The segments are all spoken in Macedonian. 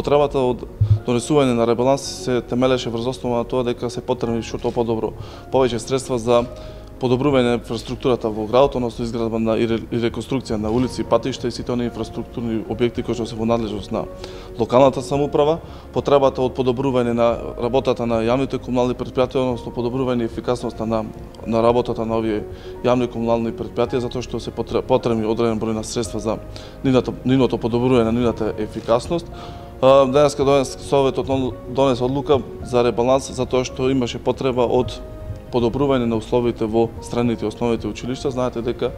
Потребата од донесување на ребаланс се темелеше врз основа на тоа дека се потребни што подобро повеќе средства за подобрување на инфраструктурата во градот, односно изградба и реконструкција на улици, патишта и сите оние инфраструктурни објекти кои што се во надлежност на локалната самоуправа, потребата од подобрување на работата на јавните комунални предпријатија, односно подобрување ефикасноста на работата на овие јавни комунални предпријатија, затоа што се потребни одреден број на средства за нивното подобрување на нивната ефикасност. Денеска Советот донесе одлука за ребаланс затоа што имаше потреба од подобрување на условите во средните и основните училишта. Знаете дека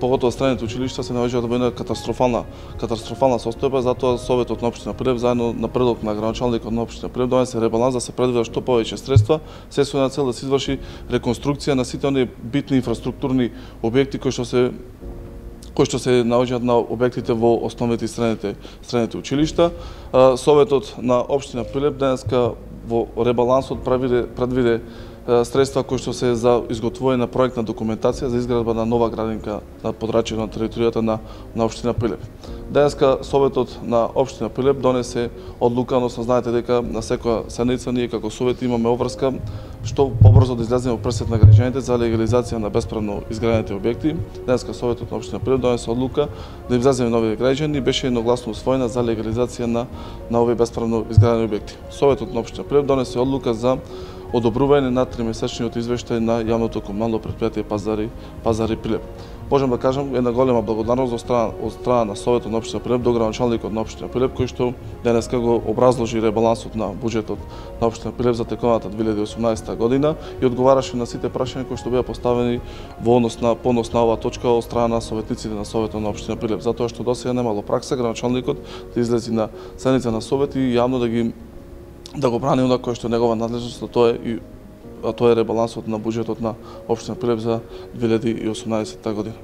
поготово средните училишта се наоѓаат во една катастрофална состојба, затоа Советот на општина Прилеп заедно на предлог на градоначалникот на општина Прилеп донесе ребаланс да се предвидат што повеќе средства, се со цел да се изврши реконструкција на сите оние битни инфраструктурни објекти кои што се наоѓаат на објектите во основните и средните училишта. Советот на општина Прилеп денеска во ребалансот предвиде средства кои што се за изготвување на проектна документација за изградба на нова градинка на подрачјето на територијата на општина Прилеп. Денеска Советот на општина Прилеп донесе одлука, односно знаете дека на секоја седница ние како Совет имаме обврска што побрзо да излеземе во пресет на граѓаните за легализација на бесправно изградените објекти. Денеска Советот на општина Прилеп донесе одлука да излеземе на овие граѓани и беше едногласно усвоена за легализација на овие бесправно изградени објекти. Советот на општина Прилеп донесе одлука за одобрување на тримесечниот извештај на јавното комунално предпријатие Пазари Прилеп. Можам да кажам една голема благодарност од страна на Советот на општина Прилеп до градоначалникот на општина Прилеп кој што денеска го образложи ребалансот на буџетот на општина Прилеп за теконата 2018 година и одговараше на сите прашања кои што беа поставени во однос на оваа точка од страна на советниците на Советот на општина Прилеп, затоа што досега немало пракса градоначалникот да излези на седница на Совет и јавно да го брани она кое што е негова надлежност, а тоа е ребалансот на буџетот на општина Прилеп за 2018 година.